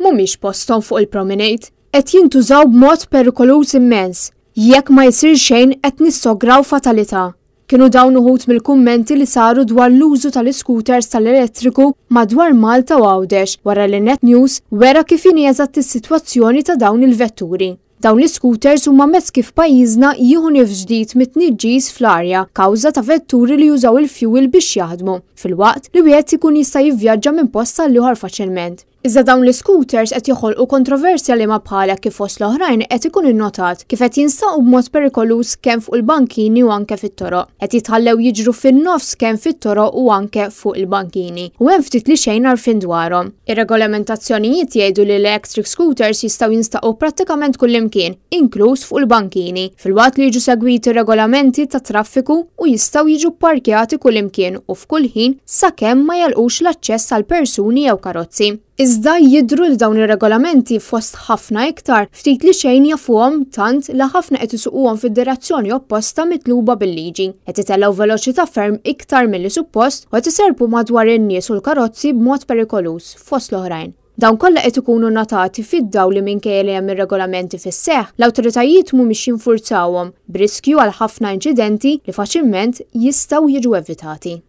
Mhumiex posthom fuq il-promenade. Qed jintużaw b'mod perikoluż immens. Jekk ma jsir xejn qed nissograw fatalità. Kienu dawn uħud mill-kummenti li saru dwar l-użu tal-iscooters tal-elettriku madwar Malta u Għawdex wara li Net News wera kif inhi eżatt is-sitwazzjoni ta' dawn il-vetturi. Dawn l-iscooters huma mezz kif pajjiżna jieħu nifs ġdid mit-tniġġis fl-arja kawża ta' vetturi li jużaw il-fjuwil biex jaħdmu, filwaqt li wieħed ikun jista' jivvjaġġa minn post għall-ieħor faċilment. Iżda dawn l-iscooters qed joħolqu kontroversja liema bħalha kif fost l-oħrajn qed ikun innotat kif qed jinstaqu b'mod perikoluż kemm fuq il-bankini u anke fit-toroq. Qed jitħallew jiġru fin-nofs kemm fit-toroq u anke fuq il-bankini u hemm ftit li xejn għarfien dwarhom. Ir-regolamentazzjonijiet jgħidu li l-electric scooters jistgħu jinstaqu prattikament kullimkien, inkluż fuq il-bankini, filwaqt li jiġu segwiti r-regolamenti tat-traffiku u jistgħu jiġu pparkjati kullimkien u f'kull ħin sakemm ma jagħlqux l-aċċess għal persuni jew karozzi. Iżda jidhru li dawn ir-regolamenti fost ħafna iktar, ftit li xejn jafuhom tant li ħafna qed isuquhom fid-direzzjoni opposta mitluba bil-liġi, qed itellgħu veloċità ferm iktar milli suppost u qed iserrpu madwar in-nies u l-karozzi b'mod perikoluż, fost l-oħrajn. Dawn kollha qed ikunu notati fid-dawl li minkejja li hemm ir-regolamenti fis-seħħ, l-awtoritajiet mhumiex jinfurzawhom, b'riskju għal ħafna inċidenti li faċilment jistgħu jiġu evitati.